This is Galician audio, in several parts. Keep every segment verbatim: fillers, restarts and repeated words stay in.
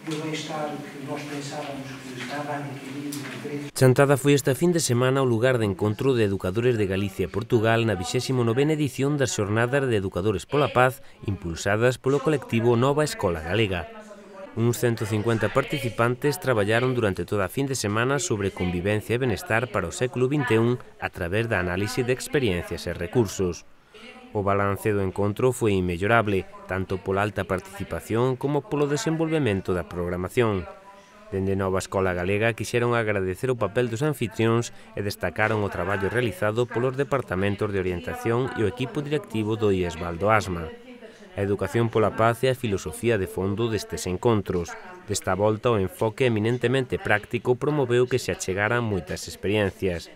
e o bem-estar que nós pensávamos que estava adquirido. Chantada foi esta fin de semana o lugar de encontro de educadores de Galicia e Portugal na vixésima novena edición das Xornadas de Educadores pola Paz impulsadas polo colectivo Nova Escola Galega. Uns ciento cincuenta participantes traballaron durante toda a fin de semana sobre convivencia e benestar para o século vinte e un a través da análise de experiencias e recursos. O balance do encontro foi inmellorable, tanto pola alta participación como polo desenvolvemento da programación. Dende Nova Escola Galega quixeron agradecer o papel dos anfitrións e destacaron o traballo realizado polos departamentos de orientación e o equipo directivo do I E S Valdo Asma. A educación pola paz é a filosofía de fondo destes encontros. Desta volta, o enfoque eminentemente práctico promoveu que se achegaran moitas experiencias.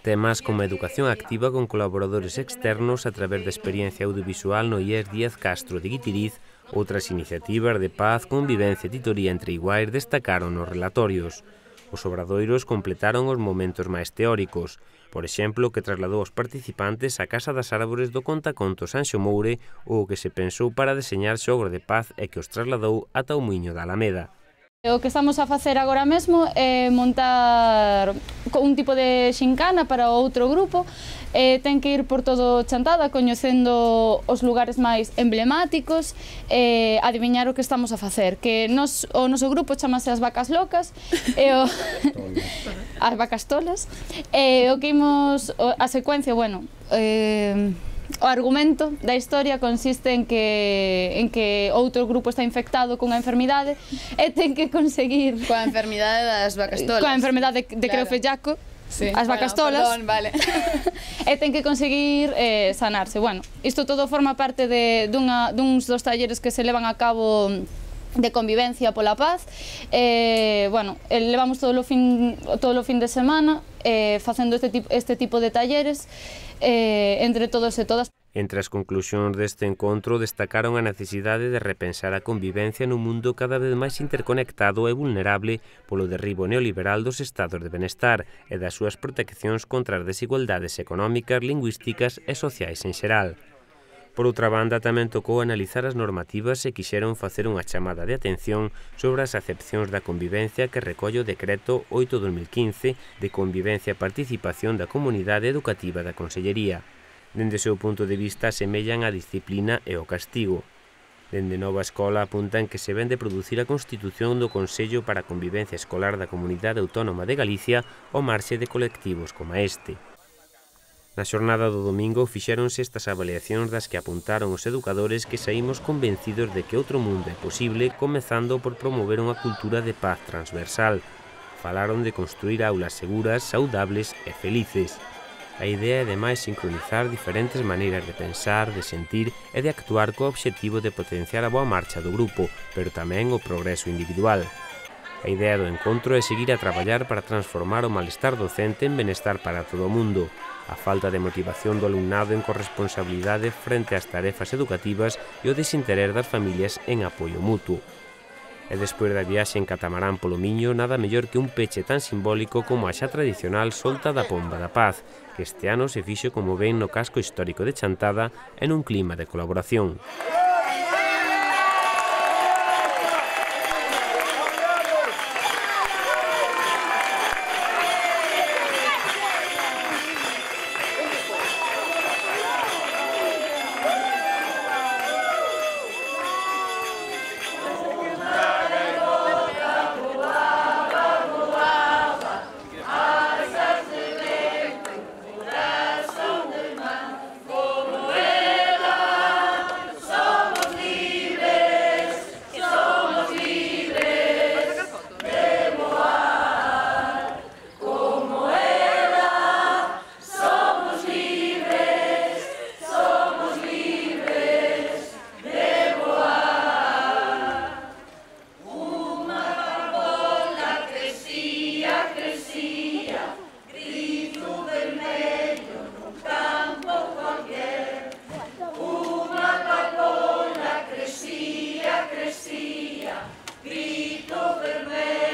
Temas como a educación activa con colaboradores externos a través da experiencia audiovisual no I E S Díaz Castro de Guitiriz, outras iniciativas de paz, convivencia e titoría entre iguais destacaron nos relatorios. Os obradoiros completaron os momentos máis teóricos, por exemplo, que trasladou os participantes á Casa das Árbores do Contacontos Anxo Moure ou o que se pensou para deseñar xogos de paz e que os trasladou ata o Muiño da Alameda. O que estamos a facer agora mesmo é montar un tipo de xincana para outro grupo. Eh, ten que ir por todo Chantada coñecendo os lugares máis emblemáticos e eh, adiviñar o que estamos a facer, que nos, o noso grupo chamase As Vacas Locas e o As Vacas Tolas e o que imos a secuencia, bueno, eh, o argumento da historia consiste en que en que outro grupo está infectado cunha enfermidade e ten que conseguir coa enfermidade das vacas tolas. Coa enfermidade de, de claro. Creofellaco, sí. As vacas bueno, tolas. Perdón, vale. E ten que conseguir eh, sanarse. Bueno, isto todo forma parte de dunha duns dos talleres que se levan a cabo de convivencia pola paz. Eh, bueno, levamos todo o fin todo o fin de semana eh, facendo este tipo este tipo de talleres eh, entre todos e todas. Entre as conclusións deste encontro destacaron a necesidade de repensar a convivencia nun mundo cada vez máis interconectado e vulnerable polo derribo neoliberal dos estados de benestar e das súas proteccións contra as desigualdades económicas, lingüísticas e sociais en xeral. Por outra banda, tamén tocou analizar as normativas e quixeron facer unha chamada de atención sobre as acepcións da convivencia que recolle o Decreto oito barra dos mil quince de Convivencia e Participación da Comunidade Educativa da Consellería. Dende o seu punto de vista, semellan a disciplina e o castigo. Dende Nova Escola apuntan que se ven de producir a constitución do Consello para a Convivencia Escolar da Comunidade Autónoma de Galicia ao marxe de colectivos como este. Na xornada do domingo fixéronse estas avaliacións das que apuntaron os educadores que saímos convencidos de que outro mundo é posible, comezando por promover unha cultura de paz transversal. Falaron de construir aulas seguras, saudables e felices. A idea é ademais sincronizar diferentes maneiras de pensar, de sentir e de actuar co obxectivo de potenciar a boa marcha do grupo, pero tamén o progreso individual. A idea do encontro é seguir a traballar para transformar o malestar docente en benestar para todo o mundo, a falta de motivación do alumnado en corresponsabilidade frente ás tarefas educativas e o desinterés das familias en apoio mutuo. E despois da viaxe en catamarán polo Miño, nada mellor que un peche tan simbólico como a xa tradicional solta da Pomba da Paz, que este ano se fixo como ven no casco histórico de Chantada en un clima de colaboración. Grito vermelho.